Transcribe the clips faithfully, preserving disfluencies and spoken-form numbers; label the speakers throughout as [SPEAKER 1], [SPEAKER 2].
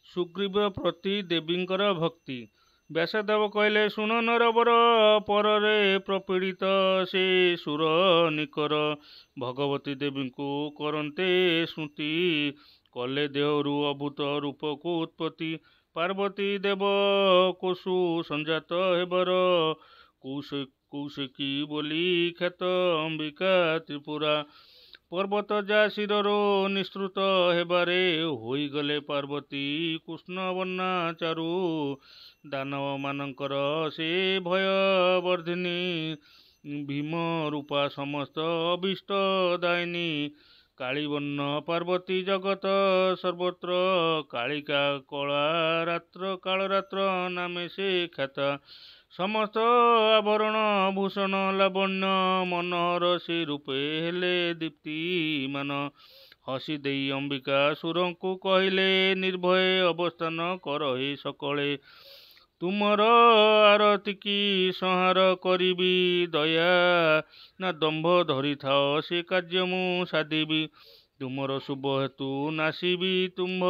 [SPEAKER 1] ସୁଗ୍ରୀବ ପ୍ରତି ଦେବୀଙ୍କର ଭକ୍ତି। ବ୍ୟାସଦେବ କହିଲେ, ଶୁଣ ନରବର, ପରରେ ପ୍ରପୀଡ଼ିତ ସେ ସୁର ନିକର ଭଗବତୀ ଦେବୀଙ୍କୁ କରନ୍ତେ ସ୍ମୃତି, କଲେ ଦେହରୁ ଅଦ୍ଭୁତ ରୂପକୁ ଉତ୍ପତ୍ତି। ପାର୍ବତୀ ଦେବ କୋଷୁ ସଞ୍ଜାତ ହେବାର, କୌଶିକୀ ବୋଲି ଖ୍ୟାତ ଅମ୍ବିକା ତ୍ରିପୁରା। ପର୍ବତ ଯା ଶିରରୁ ନିଃସୃତ ହେବାରେ ହୋଇଗଲେ ପାର୍ବତୀ କୃଷ୍ଣବର୍ଣ୍ଣା ଚାରୁ। ଦାନବମାନଙ୍କର ସେ ଭୟବର୍ଦ୍ଧିନୀ, ଭୀମ ରୂପା ସମସ୍ତ ଅଭୀଷ୍ଟ ଦାୟିନୀ। କାଳୀବର୍ଣ୍ଣ ପାର୍ବତୀ ଜଗତ ସର୍ବତ୍ର, କାଳିକା କଳାରାତ୍ର କାଳରାତ୍ର ନାମେ ସେ ଖ୍ୟାତା। ସମସ୍ତ ଆଭରଣ ଭୂଷଣ ଲାବଣ୍ୟ ମନୋହର ସେ ରୂପେ ହେଲେ ଦୀପ୍ତିମାନ। ହସି ଦେଇ ଅମ୍ବିକା ସୁରଙ୍କୁ କହିଲେ, ନିର୍ଭୟେ ଅବସ୍ଥାନ କର ହେ ସକଳେ, ତୁମର ଆରତିକି ସଂହାର କରିବି। ଦୟା ନା ଦମ୍ଭ ଧରିଥାଅ, ସେ କାର୍ଯ୍ୟ ମୁଁ ସାଧିବି। ତୁମର ଶୁଭ ହେତୁ ନାଶିବି ତୁମ୍ଭ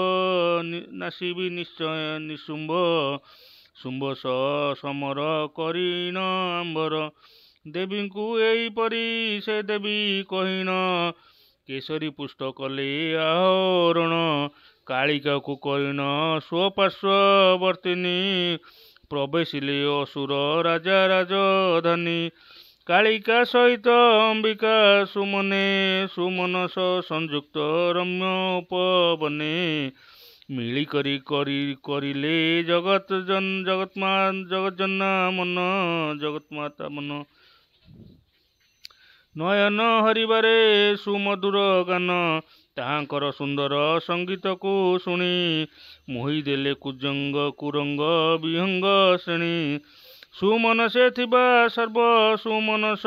[SPEAKER 1] ନାଶିବି ନିଶ୍ଚୟ ନିଶୁମ୍ଭ। ଶୁମ୍ଭ ସହ ସମର କରିଣ ଆମ୍ଭର। ଦେବୀଙ୍କୁ ଏହିପରି ସେ ଦେବୀ କହିଣ, କେଶରୀ ପୁଷ୍ଟ କଲେ ଆହରଣ। କାଳିକାକୁ କରିଣ ସ୍ୱପାର୍ଶ୍ୱବର୍ତ୍ତିନୀ, ପ୍ରବେଶିଲେ ଅସୁର ରାଜା ରାଜଧାନୀ। କାଳିକା ସହିତ ଅମ୍ବିକା ସୁମନେ, ସୁମନସ ସଂଯୁକ୍ତ ରମ୍ୟ ଉପବନେ। ମିଳିକରି କରି କରିଲେ ଜଗତ ଜଗତ୍ମା ଜଗଜ୍ଜନା ମନ ଜଗନ୍ମାତା ମନ। ନୟନ ହରିବାରେ ସୁମଧୁର ଗାନ, ତାହାଙ୍କର ସୁନ୍ଦର ସଙ୍ଗୀତକୁ ଶୁଣି ମୋହିଦେଲେ କୁଜଙ୍ଗ କୁରଙ୍ଗ ବିହଙ୍ଗ ଶ୍ରେଣୀ। ସୁମନସେ ଥିବା ସର୍ବ ସୁମନସ,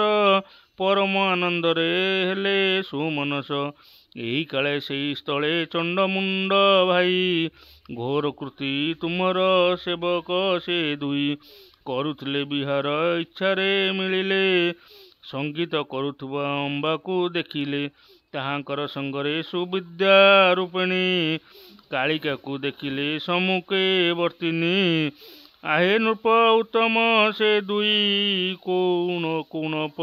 [SPEAKER 1] ପରମ ଆନନ୍ଦରେ ହେଲେ ସୁମନସ। ଏହି କାଳେ ସେହି ସ୍ଥଳେ ଚଣ୍ଡମୁଣ୍ଡ ଭାଇ, ଘୋର କୃତି ତୁମର ସେବକ ସେ ଦୁଇ। କରୁଥିଲେ ବିହାର ଇଚ୍ଛାରେ ମିଳିଲେ, ସଙ୍ଗୀତ କରୁଥିବା ଅମ୍ବାକୁ ଦେଖିଲେ। ତାହାଙ୍କର ସଙ୍ଗରେ ସୁବିଦ୍ୟା ରୂପିଣୀ କାଳିକାକୁ ଦେଖିଲେ ସମ୍ମୁଖେ ବର୍ତ୍ତିନୀ। ଆହେ ନୃପ ଉତ୍ତମ ସେ ଦୁଇ କୌଣ କୌଣପ,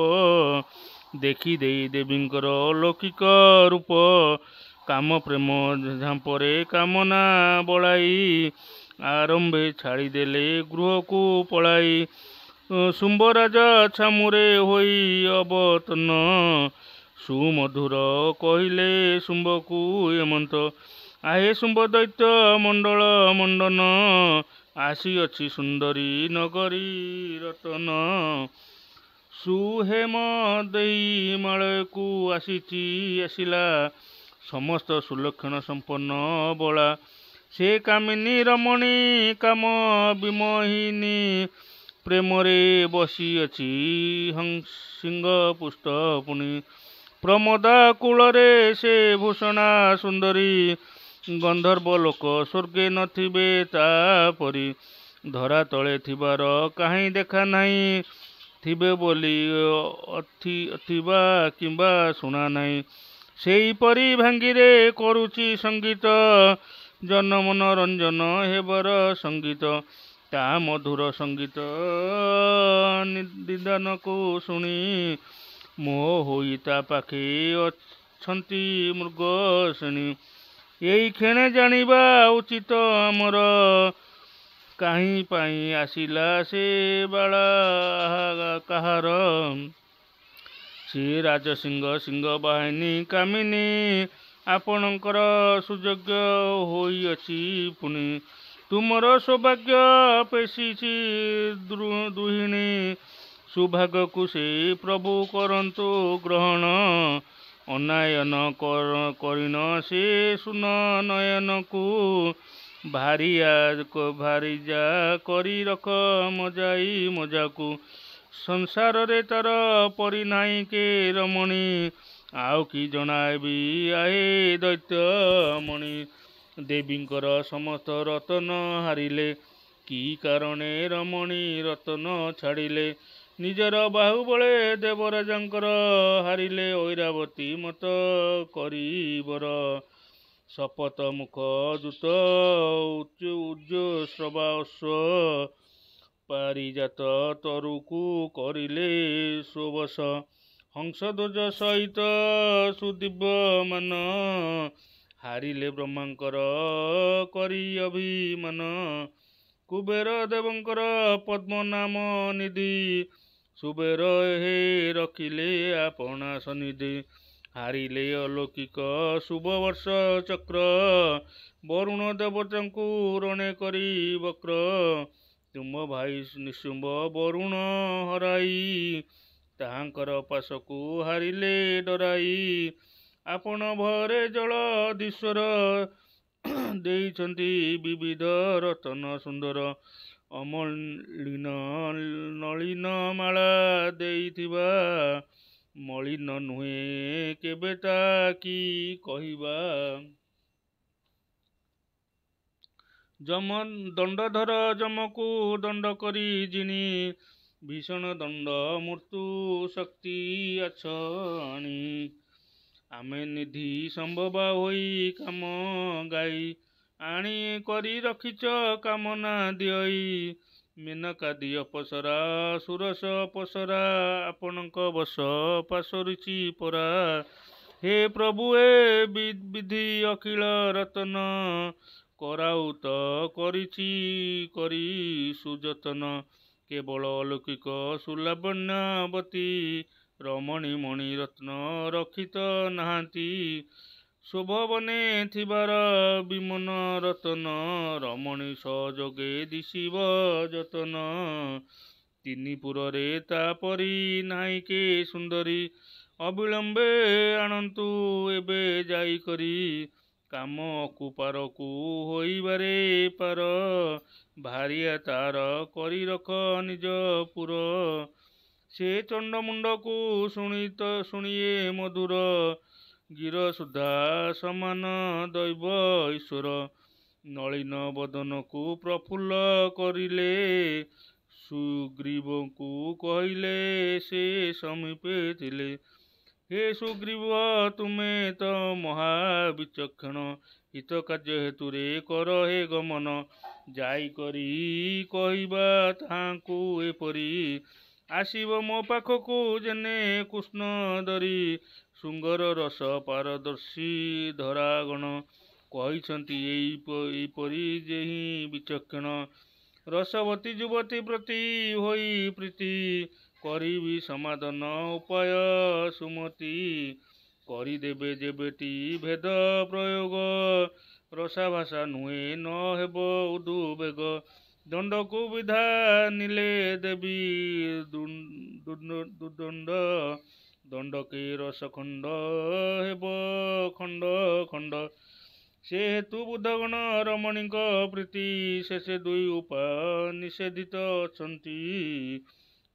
[SPEAKER 1] ଦେଖିଦେଇ ଦେବୀଙ୍କର ଅଲୌକିକ ରୂପ। କାମ ପ୍ରେମ ଝାମ୍ପରେ କାମନା ବଳାଇ, ଆରମ୍ଭେ ଛାଡ଼ିଦେଲେ ଗୃହକୁ ପଳାଇ। ଶୁମ୍ଭରାଜା ଛାମୁରେ ହୋଇ ଅବତନ, ସୁମଧୁର କହିଲେ ଶୁମ୍ଭକୁ ଏମନ୍ତ। ଆହେ ଶୁମ୍ଭ ଦୈତ୍ୟ ମଣ୍ଡଳ ମଣ୍ଡନ, ଆସିଅଛି ସୁନ୍ଦରୀ ନଗରୀ ରତନ। ସୁହେମ ଦେଇ ମାଳୟକୁ ଆସିଛି ଆସିଲା, ସମସ୍ତ ସୁଲକ୍ଷଣ ସମ୍ପନ୍ନ ବଳା। ସେ କାମିନୀ ରମଣୀ କାମ ବିମୋହିନୀ, ପ୍ରେମରେ ବସିଅଛି ସିଂହ ପୁଷ୍ଟ ପୁଣି। ପ୍ରମୋଦା କୂଳରେ ସେ ଭୂଷଣା ସୁନ୍ଦରୀ, ଗନ୍ଧର୍ବ ଲୋକ ସ୍ୱର୍ଗେ ନଥିବେ ତାପରି। ଧରା ତଳେ ଥିବାର କାହିଁ ଦେଖା ନାହିଁ, ଥିବେ ବୋଲି ଥିବା କିମ୍ବା ଶୁଣା ନାହିଁ। ସେହିପରି ଭାଙ୍ଗିରେ କରୁଛି ସଙ୍ଗୀତ, ଜନ ମନୋରଞ୍ଜନ ହେବାର ସଙ୍ଗୀତ। ତା ମଧୁର ସଙ୍ଗୀତ ନିଦାନକୁ ଶୁଣି, ମୋହ ହୋଇ ତା ପାଖେ ଅଛନ୍ତି ମୃଗଶ୍ରେଣୀ। ଏଇ କ୍ଷେଣେ ଜାଣିବା ଉଚିତ ଆମର, କାହିଁ ପାଇଁ ଆସିଲା ସେ ବାଳା କାହାର। ସେ ରାଜସିଂହ ସିଂହ ବାହିନୀ କାମିନୀ, ଆପଣଙ୍କର ସୁଯୋଗ୍ୟ ହୋଇଅଛି ପୁଣି। ତୁମର ସୌଭାଗ୍ୟ ପେଶିଛି ଦ୍ରୁହିଣୀ, ସୌଭାଗ୍ୟକୁ ସେ ପ୍ରଭୁ କରନ୍ତୁ ଗ୍ରହଣ। ଅନାୟନ କରିଣ ସେ ସୁନ ନୟନକୁ, ଭାରିଆ ଭାରିଯା କରି ରଖ ମଜାଇ ମଜାକୁ। ସଂସାରରେ ତାର ପରି ନାହିଁ କେ ରମଣୀ, ଆଉ କି ଜଣାଇବି ଆହେ ଦୈତ୍ୟମଣି। ଦେବୀଙ୍କର ସମସ୍ତ ରତନ ହାରିଲେ, କି କାରଣେ ରମଣୀ ରତନ ଛାଡ଼ିଲେ। ନିଜର ବାହୁବଳେ ଦେବରାଜଙ୍କର ହାରିଲେ ଐରାବତୀ ମତ କରିବର। ସପତ ମୁଖ ଦୂତ ଉଚ୍ଚଶ୍ରବା ଅଶ୍ୱ ପାରିଜାତ ତରୁକୁ କରିଲେ ସ୍ୱବଶ। ହଂସଧ୍ୱଜ ସହିତ ସୁଦିବ୍ୟମାନ ହାରିଲେ ବ୍ରହ୍ମାଙ୍କର କରି ଅଭିମାନ। କୁବେର ଦେବଙ୍କର ପଦ୍ମ ନାମ ନିଧି ସୁବେର ହେ ରଖିଲେ ଆପଣା ସନ୍ନିଧି। ହାରିଲେ ଅଲୌକିକ ଶୁଭବର୍ଷ ଚକ୍ର ବରୁଣ ଦେବତାଙ୍କୁ ରଣେ କରି ବକ୍ର। ତୁମ ଭାଇ ନିଶୁମ୍ଭ ବରୁଣ ହରାଇ ତାହାଙ୍କର ପାଶକୁ ହାରିଲେ ଡରାଇ। ଆପଣ ଭୟରେ ଜଳଧୀଶ୍ୱର ଦେଇଛନ୍ତି ବିବିଧ ରତନ ସୁନ୍ଦର। ଅମଳିନ ନଳିନ ମାଳା ଦେଇଥିବା ମଳିନ ନୁହେଁ କେବେ ତା କି କହିବା। ଯମ ଦଣ୍ଡଧର ଯମକୁ ଦଣ୍ଡ କରି ଜିଣି ଭୀଷଣ ଦଣ୍ଡ ମୃତ୍ୟୁ ଶକ୍ତି ଆଛ ଆଣି। ଆମେ ନିଧି ସମ୍ଭବା ହୋଇ କାମ ଗାଇ ଆଣି କରି ରଖିଛ କାମନା ଦିଅଇ। ମେନକାଦି ଅପସରା ସୁରସ ଅପସରା ଆପଣଙ୍କ ବଶ ପାସୋରିଛି ପରା। ହେ ପ୍ରଭୁ ଏ ବିଧି ଅଖିଳ ରତନ କରାଉତ କରିଛି କରି ସୁଯତନ। କେବଳ ଅଲୌକିକ ସୁଲାବଣ୍ୟବତୀ ରମଣୀ ମଣି ରତ୍ନ ରଖିତ ନାହାନ୍ତି। ଶୋଭବନେ ଥିବାର ବିମନ ରତନ ରମଣୀ ସହଯୋଗେ ଦିଶିବ ଯତନ। ତିନି ପୁରରେ ତା ପରି ନାହିଁ କେ ସୁନ୍ଦରୀ ଅବିଳମ୍ବେ ଆଣନ୍ତୁ ଏବେ ଯାଇକରି। କାମ ଅକୁପାରକୁ ହୋଇବାରେ ପାର ଭାରିଆ ତାର କରି ରଖ ନିଜ ପୁର। ସେ ଚଣ୍ଡମୁଣ୍ଡକୁ ଶୁଣିତ ଶୁଣିଏ ମଧୁର ଗିର ସୁଧା ସମାନ ଦୈବ ଈଶ୍ୱର। ନଳିନ ବଦନକୁ ପ୍ରଫୁଲ୍ଲ କରିଲେ ସୁଗ୍ରୀବଙ୍କୁ କହିଲେ ସେ ସମୀପେ ଥିଲେ। ହେ ସୁଗ୍ରୀବ ତୁମେ ତ ମହାବିଚକ୍ଷଣ ହିତ କାର୍ଯ୍ୟ ହେତୁରେ କର ହେ ଗମନ। ଯାଇକରି କହିବା ତାହାଙ୍କୁ ଏପରି ଆସିବ ମୋ ପାଖକୁ ଯେନେ କୃଷ୍ଣ ଧରି। ଶୃଙ୍ଗର ରସ ପାରଦର୍ଶୀ ଧରାଗଣ କହିଛନ୍ତି ଏହିପରି ଯେହିଁ ବିଚକ୍ଷଣ। ରସବତୀ ଯୁବତୀ ପ୍ରତି ହୋଇ ପ୍ରୀତି କରିବି ସମାଧାନ ଉପାୟ ସୁମତି। କରିଦେବେ ଯେବେଟି ଭେଦ ପ୍ରୟୋଗ ରସାଭାସା ନୁହେଁ ନ ହେବ ଉଦବେଗ। ଦଣ୍ଡକୁ ବିଧାନିଲେ ଦେବୀ ଦୁର୍ଦଣ୍ଡ ଦଣ୍ଡକେ ରସଖଣ୍ଡ ହେବ ଖଣ୍ଡ ଖଣ୍ଡ। ସେ ହେତୁ ବୁଧଗଣ ରମଣୀଙ୍କ ପ୍ରୀତି ଶେଷେ ଦୁଇ ଉପାୟ ନିଷେଧିତ ଅଛନ୍ତି।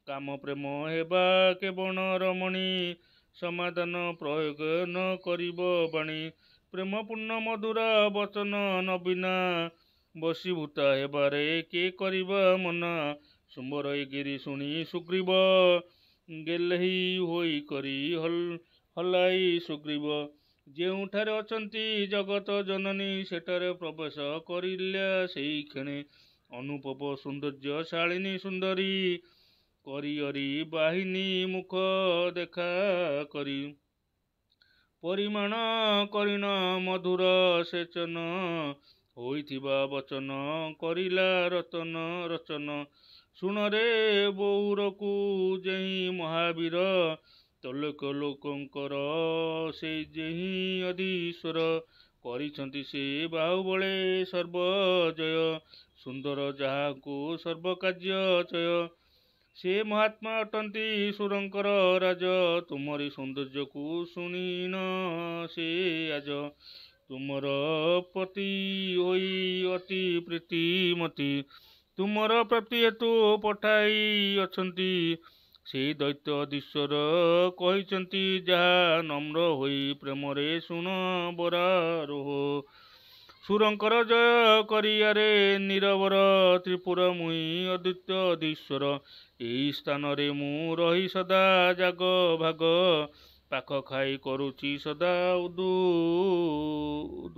[SPEAKER 1] କାମ ପ୍ରେମ ହେବା କେବଣ ରମଣୀ ସମାଧାନ ପ୍ରୟୋଗ ନ କରିବ ବାଣୀ। ପ୍ରେମପୂର୍ଣ୍ଣ ମଧୁର ବଚନ ନବୀନା ବଶୀଭୂତା ହେବାରେ କେ କରିବ ମନା। ଶୁମ୍ଭର ଏ ଗିରି ଶୁଣି ସୁଗ୍ରୀବ ଗେହ୍ଲେଇ ହୋଇ କରି ହଲାଇ ସୁଗ୍ରୀବ। ଯେଉଁଠାରେ ଅଛନ୍ତି ଜଗତ ଜନନୀ ସେଠାରେ ପ୍ରବେଶ କରିଲା ସେହିକ୍ଷଣେ। ଅନୁପମ ସୌନ୍ଦର୍ଯ୍ୟଶାଳିନୀ ସୁନ୍ଦରୀ କରିଅରି ବାହିନୀ ମୁଖ ଦେଖା କରି। ପରିମାଣ କରିଣ ମଧୁର ସେଚନ ହୋଇଥିବା ବଚନ କରିଲା ରତନ ରଚନ। ଶୁଣରେ ବଉରକୁ ଯେହିଁ ମହାବୀର ତ୍ରୈଲୋକ୍ୟ ଲୋକଙ୍କର ସେ ଯେହିଁ ଅଧୀଶ୍ୱର। କରିଛନ୍ତି ସେ ବାହୁବଳେ ସର୍ବଜୟ ସୁନ୍ଦର ଯାହାଙ୍କୁ ସର୍ବକାର୍ଯ୍ୟ ଚୟ। ସେ ମହାତ୍ମା ଅଟନ୍ତି ସୁରଙ୍କର ରାଜ ତୁମରି ସୌନ୍ଦର୍ଯ୍ୟକୁ ଶୁଣିଣ ସେ ଆଜ। ତୁମର ପତି ହୋଇ ଅତି ପ୍ରୀତିମତୀ ତୁମର ପ୍ରାପ୍ତି ହେତୁ ପଠାଇ ଅଛନ୍ତି। ସେହି ଦୈତ୍ୟ ଅଧୀଶ୍ୱର କହିଛନ୍ତି ଯାହା ନମ୍ର ହୋଇ ପ୍ରେମରେ ଶୁଣ ବରାରୋହ। ସୁରଙ୍କର ଜୟ କରିଆରେ ନିରବର ତ୍ରିପୁର ମୁହିଁ ଅଦ୍ୱିତୀୟ ଅଧୀଶ୍ୱର। ଏହି ସ୍ଥାନରେ ମୁଁ ରହି ସଦା ଜାଗ ଭାଗ ପାଖ ଖାଇ କରୁଛି ସଦା ଉଦୁ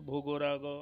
[SPEAKER 1] ଭୋଗରାଗ।